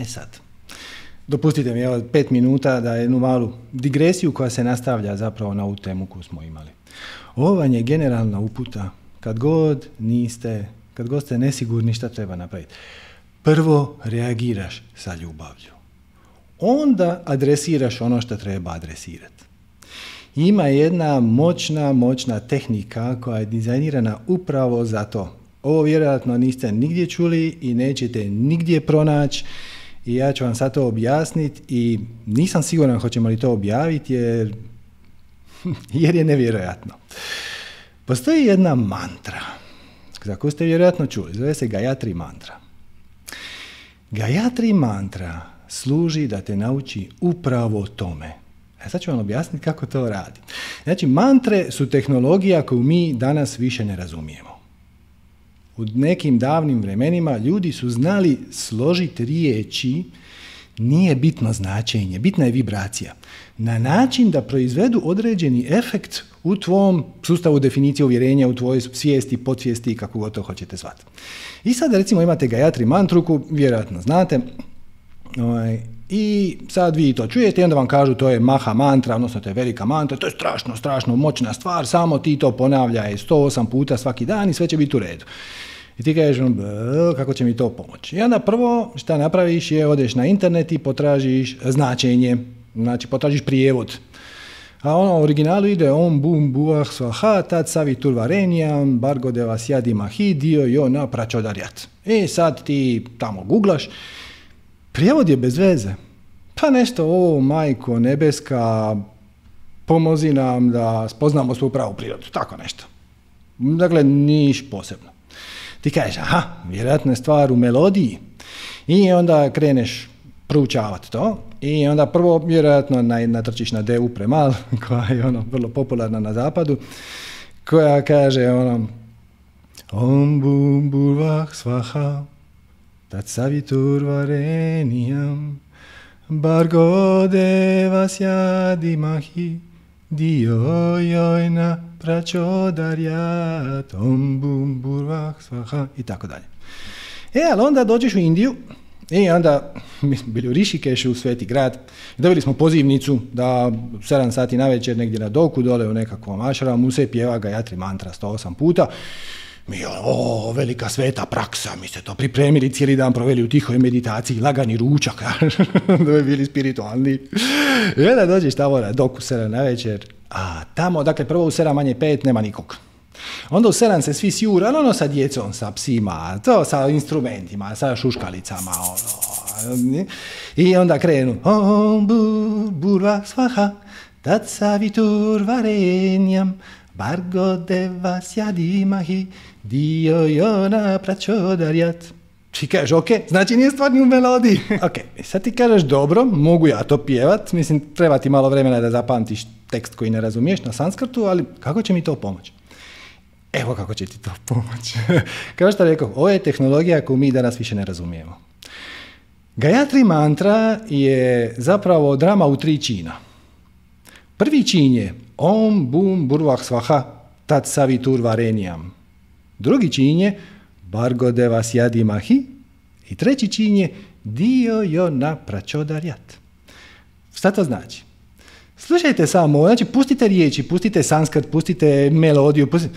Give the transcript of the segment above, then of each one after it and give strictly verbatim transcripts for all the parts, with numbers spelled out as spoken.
E sad, dopustite mi evo pet minuta da jednu malu digresiju koja se nastavlja zapravo na ovu temu koju smo imali. Ovo vam je generalna uputa kad god niste, kad god ste nesigurni šta treba napraviti. Prvo reagiraš sa ljubavlju. Onda adresiraš ono što treba adresirati. Ima jedna moćna, moćna tehnika koja je dizajnirana upravo za to. Ovo vjerojatno niste nigdje čuli i nećete nigdje pronaći i ja ću vam sad to objasniti i nisam siguran hoćemo li to objaviti jer, jer je nevjerojatno. Postoji jedna mantra za koju ste vjerojatno čuli, zove se Gayatri mantra. Gayatri mantra služi da te nauči upravo tome. A sad ću vam objasniti kako to radi. Znači, mantre su tehnologija koju mi danas više ne razumijemo. U nekim davnim vremenima ljudi su znali složiti riječi, nije bitno značenje, bitna je vibracija, na način da proizvedu određeni efekt u tvom sustavu definicije uvjerenja, u tvojoj svijesti, podsvijesti, kako god to hoćete zvati. I sad recimo imate Gayatri mantru koju vjerojatno znate, ovaj, i sad vi to čujete i onda vam kažu to je maha mantra, odnosno to je velika mantra, to je strašno, strašno moćna stvar, samo ti to ponavljaj sto osam puta svaki dan i sve će biti u redu. I ti kažeš, kako će mi to pomoći? I onda prvo šta napraviš je odeš na internet i potražiš značenje, znači potražiš prijevod. A ono u originalu ide om bum buah svaha tat savitur varenijam bargo devasjadi mahi dio jo na pračodarjat. I sad ti tamo googlaš, prijevod je bez veze. Pa nešto, o majko nebeska, pomozi nam da spoznamo svoju pravu prirodu, tako nešto. Dakle, niš posebno. Ti kažeš, aha, vjerojatno je stvar u melodiji. I onda kreneš proučavati to. I onda prvo vjerojatno natrčiš na devu premal, koja je ono vrlo popularna na zapadu, koja kaže ono om bum burvah svaha tat savitur varenijam bargo devasjadi mahi dio jojna pračodarjat om bum burvah svaha i tako dalje. E, ali onda dođeš u Indiju i onda mi smo bili u Rišikešu, u Sveti grad, dobili smo pozivnicu da sedam sati navečer negdje na doku dole u nekakvom ašramu se pjeva Gayatri mantra sto osam puta. Mi, o, velika sveta praksa, mi se to pripremili, cijeli dan proveli u tihoj meditaciji, lagani ručak, da bi bili spiritualni. I onda dođeš tamo na doku sedam navečer, a tamo, dakle, prvo u sedam manje pet nema nikog. Onda u sedam se svi sjura, ono sa djecom, sa psima, to sa instrumentima, sa šuškalicama, ono. I onda krenu, om bur, burva svaha, tat savitur varenjam, bargo devasjadi mahi, dio jona pračodarjat. Ti kažeš, ok, znači nije stvar ni u melodiji. Ok, sad ti kažeš, dobro, mogu ja to pjevat, mislim, treba ti malo vremena da zapamtiš tekst koji ne razumiješ na sanskrtu, ali kako će mi to pomoći? Evo kako će ti to pomoći. Kao što rekao, ovo je tehnologija koju mi danas više ne razumijemo. Gayatri mantra je zapravo drama u tri čina. Prvi čin je om bum burvah svaha tat savitur varenijam. Drugi čin je bargo devasjadi mahi. I treći čin je dio jo na pračodarjat. Šta to znači? Slušajte samo, znači pustite riječi, pustite sanskrt, pustite melodiju, pustite...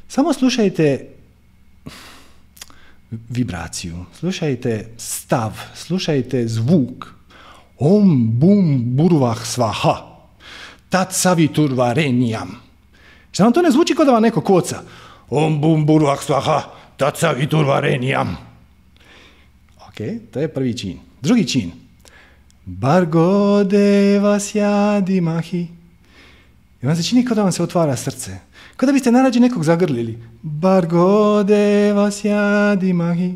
Samo slušajte vibraciju, slušajte stav, slušajte zvuk. Om bum burvah svaha, tat savitur varenijam. Šta vam to ne zvuči kao da vam neko koca? Om bum burvah svaha, tat savitur varenijam. Ok, to je prvi čin. Drugi čin. Bargo devasjadi mahi. I vam se čini kao da vam se otvara srce. Kao da biste narađe nekog zagrlili. Bargo devasjadi mahi.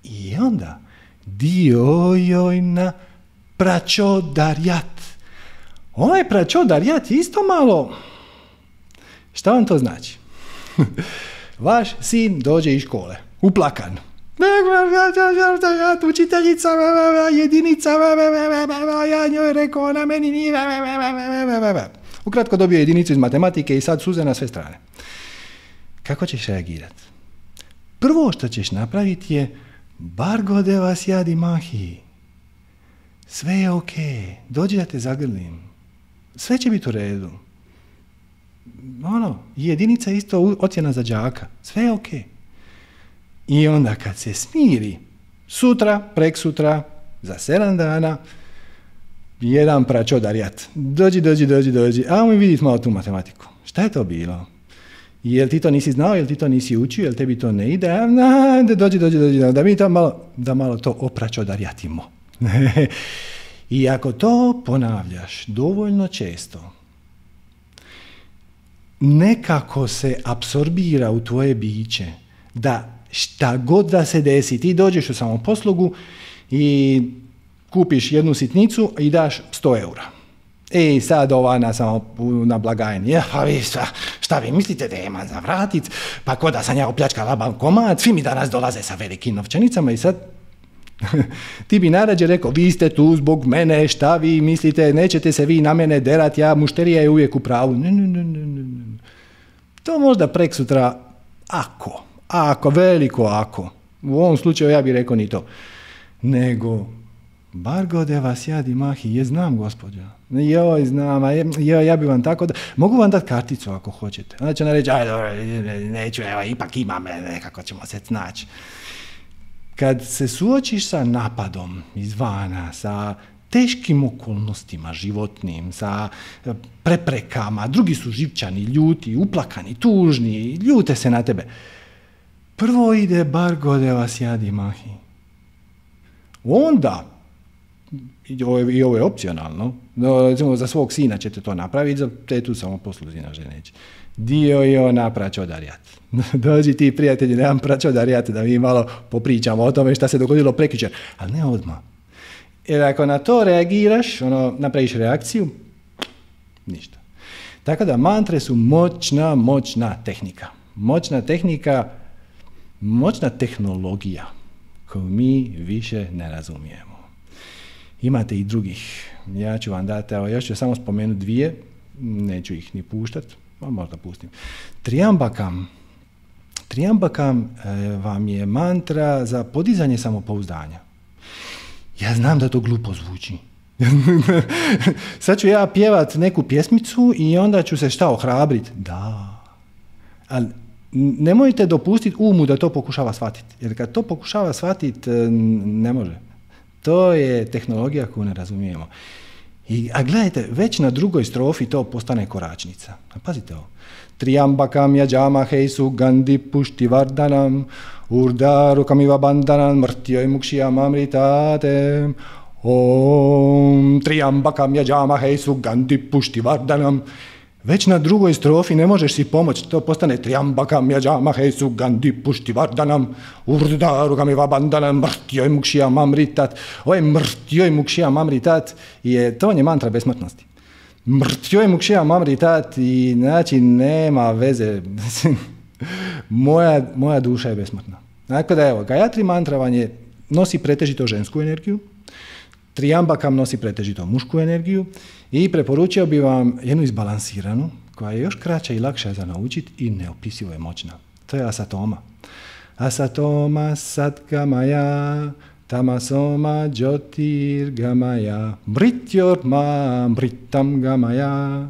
I onda dio jojna pračodarjat. Ovaj pračodarjat je isto malo... Šta vam to znači? Vaš sin dođe iz škole, uplakan. Učiteljica, jedinica, ja njoj rekao, ona meni nije... Ukratko dobio jedinicu iz matematike i sad suze na sve strane. Kako ćeš reagirati? Prvo što ćeš napraviti je bargo devasjadi mahi. Sve je ok, dođi da te zagrlim. Sve će biti u redu. Ono, jedinica isto ocjena za đaka. Sve je ok. I onda kad se smiri, sutra, preksutra, za sedam dana, jedan pračodarjat. Dođi, dođi, dođi, dođi. A mi vidite malo tu matematiku. Šta je to bilo? Jel ti to nisi znao, jel ti to nisi učio, jel tebi to ne ide? Na, da dođi, dođi, dođi, da mi to malo, da malo to opračodarjatimo. I ako to ponavljaš dovoljno često, nekako se apsorbira u tvoje biće da šta god da se desi, ti dođeš u samoposlugu i kupiš jednu sitnicu i daš sto eura. I sad ova na, samo, na blagajni, ja, pa vi šta, šta vi mislite da ima za vratit, pa ko da sam ja opljačkala bankomat, svi mi danas dolaze sa velikim novčanicama i sad ti bi narađe rekao, vi ste tu zbog mene, šta vi mislite, nećete se vi na mene derat, ja, mušterija je uvijek u pravu. Ne, ne, ne, ne, ne. To možda preksutra, ako, ako, veliko ako, u ovom slučaju ja bih rekao ni to, nego, bar gode vas jadi mahi, je znam gospođa, joj znam, a je, joj, ja bi vam tako, da, mogu vam dati karticu ako hoćete, onda će ona reći, aj dobro, neću, evo, ipak imam, nekako ćemo se snaći. Kad se suočiš sa napadom izvana, sa teškim okolnostima životnim, sa preprekama, drugi su živčani, ljuti, uplakani, tužni, ljute se na tebe. Prvo ide bar gode vas jadi mahi. Onda, i ovo je, i ovo je opcionalno, no, recimo za svog sina ćete to napraviti, za tetu samo posluzina ženeći. Dio je ona pračodarjat. Dođi ti prijatelji, nemam pračodarjat, da mi malo popričamo o tome šta se dogodilo prekjučer, ali ne odmah. Jer ako na to reagiraš, ono, napraviš reakciju, ništa. Tako da mantre su moćna, moćna tehnika. Moćna tehnika, moćna tehnologija koju mi više ne razumijemo. Imate i drugih. Ja ću vam dati, evo, još ću samo spomenuti dvije, neću ih ni puštati, pa možda pustim. Triambakam. Triambakam e, vam je mantra za podizanje samopouzdanja. Ja znam da to glupo zvuči. Sad ću ja pjevat neku pjesmicu i onda ću se šta ohrabriti? Da. Ali nemojte dopustiti umu da to pokušava shvatiti. Jer kad to pokušava shvatiti, ne može. To je tehnologija koju ne razumijemo. I, a gledajte, već na drugoj strofi to postane koračnica. A pazite ovo. Triambakam yajamahe sugandhi pushtivardhanam urdarukamiva bandhanam mrtyoj mukshiyam amritatem om triambakam yajamahe sugandhi pushtivardhanam. Već na drugoj strofi ne možeš si pomoći, to postane triambakam yajamahe sugandhi pushtivardhanam urdarukamiva bandhanam mrtyoj mukshiyam amritat. Ovaj mrtyoj mukshiyam amritat je, to je mantra besmrtnosti. Mrtyoj mukshiyam amritat i znači nema veze. moja, moja duša je besmrtna. Dakle da evo, Gayatri mantra vam je, nosi pretežito žensku energiju, Triambakam nosi pretežito mušku energiju i preporučio bi vam jednu izbalansiranu koja je još kraća i lakša za naučiti i neopisivo je moćna. To je Asatoma. Asatoma satgamaya tamasoma jyotirgamaya mrityorma mritam gamaya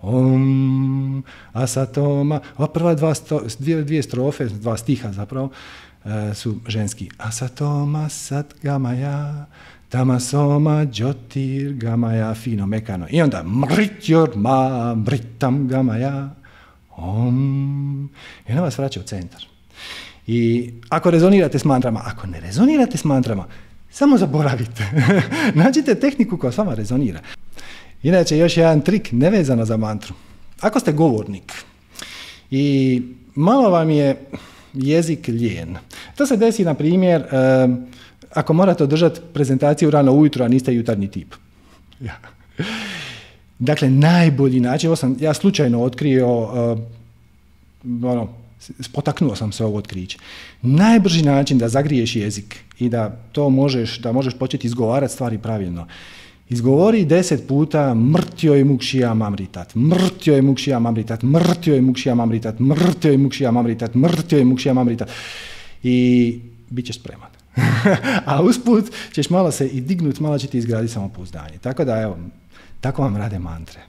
om asatoma. Ova prva dva sto, dvije, dvije strofe, dva stiha zapravo, e, su ženski. Asatoma satgamaya tamasoma jyotirgamaya, fino, mekano. I onda mrityorma mritam gamaya om. I ona vas vraća u centar. I ako rezonirate s mantrama, ako ne rezonirate s mantrama, samo zaboravite. Nađite tehniku koja s vama rezonira. Inače, još jedan trik nevezano za mantru. Ako ste govornik i malo vam je jezik lijen, to se desi, na primjer, ako morate održati prezentaciju rano ujutro, a niste jutarnji tip. Ja. Dakle, najbolji način, ovo sam ja slučajno otkrio, uh, ono, spotaknuo sam se ovo otkriće. Najbrži način da zagriješ jezik i da to možeš, da možeš početi izgovarati stvari pravilno. Izgovori deset puta mrtyoj mukshiyam amritat, mrtyoj mukshiyam amritat, mrtyoj mukshiyam amritat, mrtyoj mukshiyam amritat, mrtyoj mukshiyam amritat. I bit ćeš spreman. A usput ćeš malo se i dignut, malo će ti izgraditi samopouzdanje. Tako da, evo, tako vam rade mantre.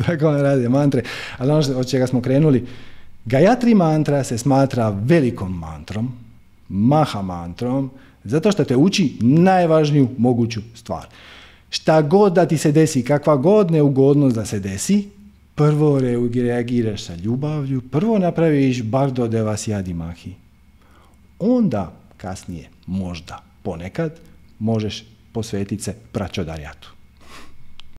Tako vam rade mantre. Ali ono od čega smo krenuli, Gayatri mantra se smatra velikom mantrom, maha mantrom, zato što te uči najvažniju moguću stvar. Šta god da ti se desi, kakva god neugodnost da se desi, prvo reagiraš sa ljubavlju, prvo napraviš bardo devasya mahi. Onda, kasnije, možda, ponekad, možeš posvetiti se pračodarjatu.